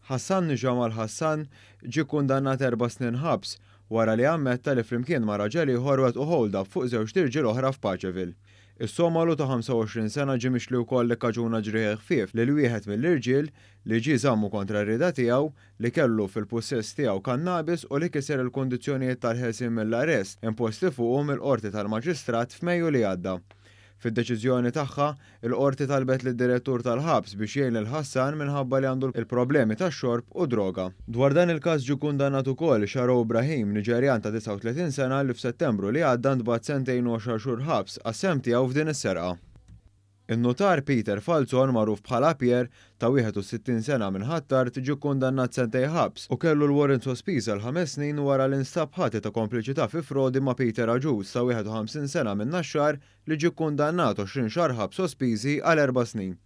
Hassan Jamal Hassan ġie kundannat 4 snin ħabs wara li ammetta li flimkien ma' raġel ieħor wettqu hold-up fuq żewġt irġiel oħra f'Paċeville. Is-Somalu ta' 25 sena ġie mixli wkoll li kkaġuna ġrieħi ħfief lil wieħed mill-irġiel li ġie żammu kontra r-rieda tiegħu, li kellu fil-pussess tiegħu kannabis u li kiser il-kundizzjonijiet tal-ħelsien mill-arrest imposti fuqu mill-Qorti tal-Maġistrat f'Mejju li għadda. Fid-deċiżjoni tagħha, il-qorti talbet lid-direttur tal-ħabs biex jgħin lil Hassan minħabba li għandu il-problemi tax-xorb u droga. Dwar dan il-każ ġie kundannat ukoll Sharo Ibrahim, Niġerjan ta' 39 sena li f'Settembru li għadda ntbagħat sentejn u 10 xhur ħabs għas-sehem tiegħu f'din is-serqa. In-notar Peter Falzon, magħruf bħala Pierre, ta' 61 sena minn Ħ'Attard, ġie kundannat sentejn ħabs u kellu l-warrant sospiż għal 5 snin wara li nstab ħati ta' kompliċità fi frodi ma' Peter Agius ta' 51 sena minn Naxxar li ġie kundannat 20 xahar ħabs sospiżi għal 4 snin.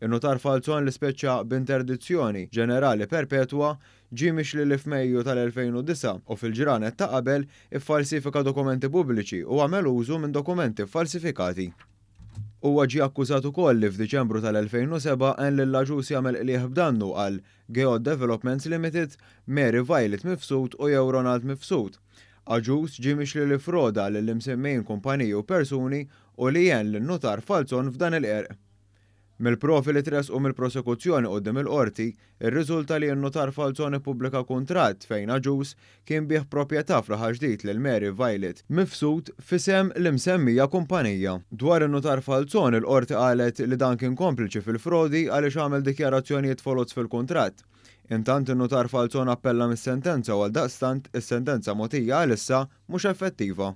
In-notar Falzon, li speċċa b'interdizzjoni ġenerali perpetwa, ġie mixli li f'Mejju tal-2009 u fil-ġranet ta' qabel iffalsifika dokumenti pubbliċi u għamel użu minn dokumenti falsifikati. Huwa ġie akkużat ukoll li f'Diċembru tal-2007 għen lil Agius jagħmel qligħ b'dannu għal Geod Developments Limited, Mary Violet Mifsud u jew Ronald Mifsud. Agius ġie mixli li ffroda lill-imsemmijin kumpaniji u persuni u li għen lin-notar Falzon f'dan il-qerq. Mill-provi li tressqu mill-prosekuzzjoni quddiem il-qorti, irriżulta li n-notar Falzon ippubblika kuntratt fejn Agius kien biegħ proprjetà f'Raħal Ġdid lil Mary Violet Mifsud f'isem l-imsemmija kumpanija. Dwar in-notar Falzon, il-qorti qalet li dan kien kompliċi fil-frodi għaliex għamel dikjarazzjonijiet foloz fil-kuntratt. Intant, in-notar Falzon appella mis-sentenza u għaldaqstant is-sentenza mogħtija għalissa mhux effettiva.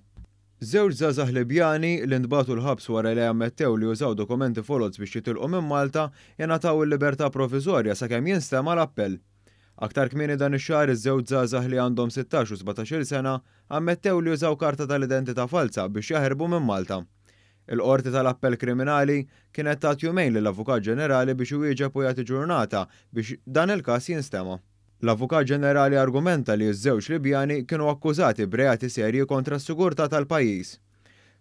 Żewġ żgħażagħ Libjani li ntbagħtu l-ħabs wara li ammettew li użaw dokumenti foloz biex jitilqu minn Malta jingħataw il-libertà provviżorja sakemm jinstema' l-appell. Aktar kmieni dan ix-xahar, iż-żewġ żgħażagħ li għandhom 16 u 17-il sena ammettew li użaw karta tal-identità falsa biex jaħirbu minn Malta. Il-Qorti tal-Appell Kriminali kienet tat jumejn lill-Avukat Ġenerali biex iwieġeb u jagħti ġurnata biex dan il-każ jinstema'. L-Avukat Ġenerali argumenta li ż-żewġ Libjani kienu akkużati b'reati serji kontra s-sigurtà tal-pajjiż.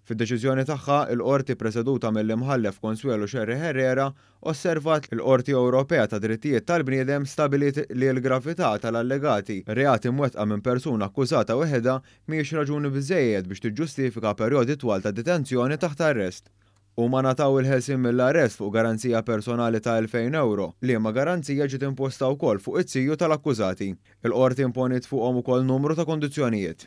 Fid-deċiżjoni tagħha, il-qorti preseduta mill-Imħallef Consuelo Scerri Herrera osservat: il-Qorti Ewropea ta' Drittijiet tal-Bniedem stabiliet li l-gravità tal-allegati reati mwettqa minn persuna akkużata weħidha mhijiex raġuni biżejjed biex tiġġustifika perjodi twal ta' detenzjoni taħt arrest. Huma ngħataw il-ħelsien mill-arrest fuq garanzija personali ta' 2000 euro, liema garanzija ġiet imposta wkoll fuq it-tiju tal-akkużati. Il-qorti imponiet fuqhom ukoll numru ta' kondizzjonijiet.